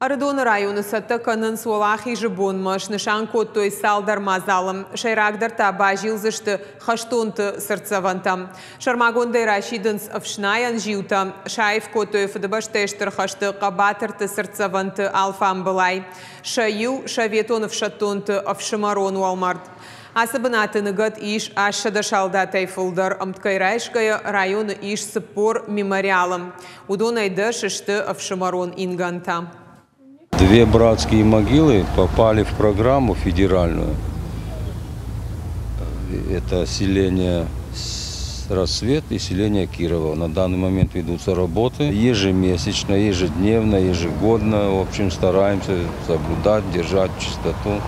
Ӕрыдоны районы цӕттӕ кӕнынц Уӕлахизы бонмӕ, снысан кодтой цалдӕр мадзалы. Сӕйрагдӕр та базилдзысты хӕстонты цыртдзӕвӕнтӕм. Сӕрмагондӕй расидынц ӕфснайӕн зиутӕ. Саив кодтой Фыдыбӕстӕйы Стыр хӕсты хъӕбатырты цыртдзӕвӕнты алфамбылай. Сӕ иу советон ӕфсӕддонты ӕфсымӕрон уӕлмӕрд. Ацы бынаты ныгӕд ис 800 салдатӕй фылдӕр. Ӕмткӕй райсгӕйӕ районы ис 40 мемориалы. Уыдонӕй 10 сты ӕфсымӕрон ингӕнтӕ. Две братские могилы попали в программу федеральную. Это селение Рассвет и селение Кирова. На данный момент ведутся работы. Ежемесячно, ежедневно, ежегодно. В общем, стараемся соблюдать, держать чистоту.